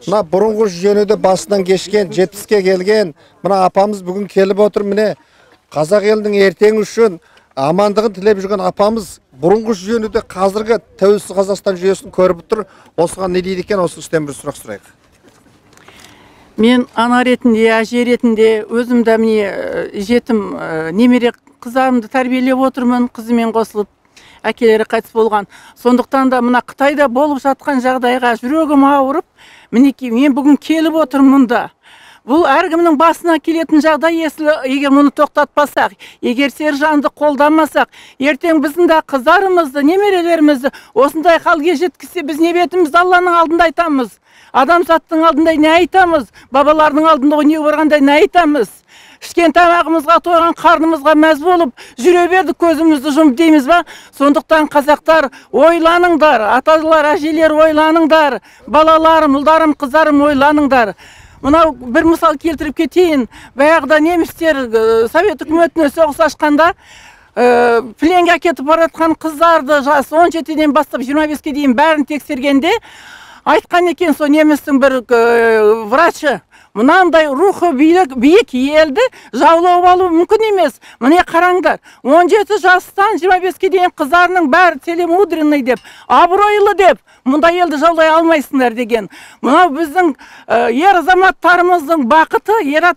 Мына бұрынғы жүйені басынан кешкен, 70-ке келген, мына апамыз бүгін келіп отыр, міне қазақ елінің ертеңі үшін амандығын тілеп жүрген апамыз бұрынғы жүйені қазіргі тәуелсіз Қазақстан жүйесін көріп тұр. Осыған не дейді екен, осы үстен бір сұрақ сұрайық. Мен ана ретінде, әже ретінде өзімді міне жетім немере қыздарымды тәрбиелеп отырмын, қызымен қосылып, әкелері қайтыс болған. Сондықтан да мына Қытайда болып жатқан жағдайға жүрегім ауырып, мінекей мен бүгін келіп отырмын мұнда. Бұл әркімнің басына келетін жағдай, егер мұны тоқтатпасақ, егер сержанды қолданмасақ, ертең біздің де қыздарымызды, немерелерімізді осындай халге жеткізсе, біз не бетімізді Алланың алдында айтамыз? Адамзаттың алдында не айтамыз? Бабалардың алдында не барғанда не айтамыз? Ішкен тамағымызға, тойған қарнымызға мәз болып, жүре бердік, көзімізді жұмып дейміз ба? Сондықтан қазақтар ойланыңдар, аталар, әжелер ойланыңдар, балаларым, ұлдарым, қыздарым ойланыңдар. Мынау бір мысал келтіріп кетейін. Баяғыда немістер Совет үкіметіне соғыс ашқанда пленге әкетіп баратқан қыздарды жасы 17-ден бастап 25-ке дейін бәрін тексергенде айтқан екен сол немістің бір врачы, мынандай рухы биік елді жаулап алу мүмкін емес. Міне қараңдар, 17 жастан 25-ке дейін қыздарының бәрі целомудренный деп, абыройлы деп, мұндай елді жаулай алмайсыңдар деген. Мынау біздің ер азаматтарымыздың бақыты, ер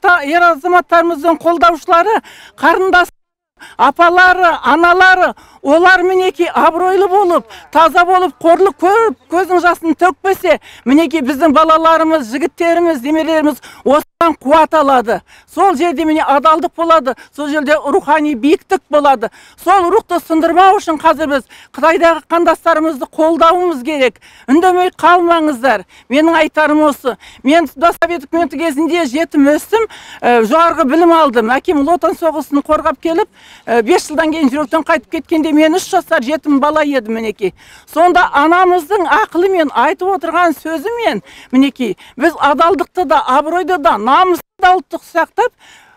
азаматтарымыздың қолдаушылары, қарындас апалары, аналары, олар мінеки абыройлы болып, таза болып, қорлық көріп, көздің жасын төкпесе, мінеки біздің балаларымыз, жігіттеріміз, немерелеріміз осыдан қуат алады. Сол жерде міне адалдық болады, сол жерде рухани биіктік болады. Сол рухты сындырмау үшін қазір біз Қытайдағы қандастарымызды қолдауымыз керек. Үндемей қалмаңыздар. Менің айтарым осы. Мен Совет үкіметі кезінде жетім өстім, жоғарғы білім алдым. Әкем Ұлы Отан соғысын қорғап келіп, 5 жылдан кейін жүректен қайтып кеткенде мен 3 жасар жетім бала едім мінекей. Сонда анамыздың ақылымен айтып отырған сөзімен мінекей біз адалдықты да, абыройды да, намысты да ұлттық сақтап,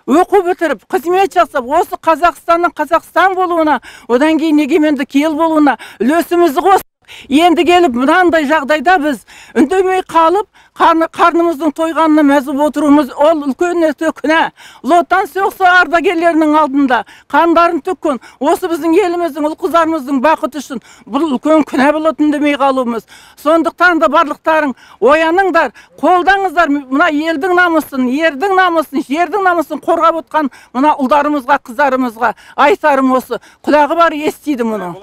оқу бітіріп, қызмет жасап, осы Қазақстанның Қазақстан болуына, одан кейін егеменді ел болуына үлесімізді қосып, енді келіп мынандай жағдайда біз үндемей қалып, қарнымыздың тойғанына мәз болып отыруымыз ол үлкен күнә. Ұлы Отан соғысы ардагерлерінің алдында қандарын төккен, осы біздің еліміздің, ұл-қыздарымыздың бақыты үшін бұл үлкен күнә болып үндемей қалуымыз. Сондықтан да барлықтарың ояныңдар, қолдаңыздар, мына елдің намысын, ердің намысын, жердің намысын қорғап отқан мына ұлдарымызға, қыздарымызға айтарым осы. Құлағы бар естиді мұны.